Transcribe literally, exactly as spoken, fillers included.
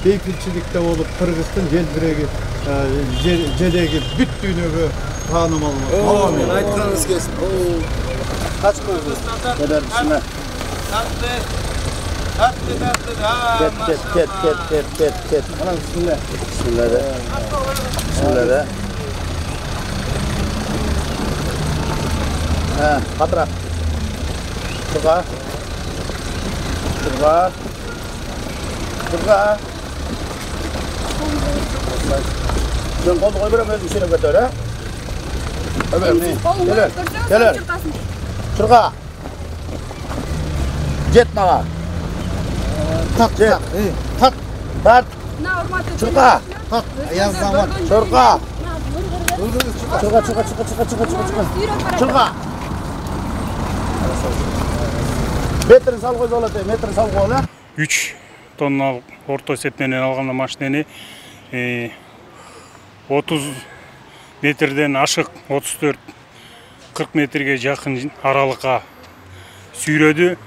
бейпилчиликте болуп, Кыргыздын желбиреги, желеги бүт дүйнөгө таанымал болду. Мен айтканыңыз келсин. Kaç koydunuz? Kadar bismillah. Ket ket ket ket ket ket ket. Ana bismillah. Bismillah de. Bismillah de. Ha, katra. Turga. Turga. Turga. Sen koldu koy verem özü işine götür ha. Evet. Gelir. Gelir. Turga. Jet mağa. Так, Jet. так, так, Tat. Turga. Так, аяздан бар. Turga. Turga, Turga, turga, turga, turga, turga, turga. Turga. Metrin sal koy bolot, metrin sal koy la. үч тонна орто эсеп менен алганда машинени отуз метрден ашык отуз төрт кырк метрге жакын аралыкка сүйрөдү.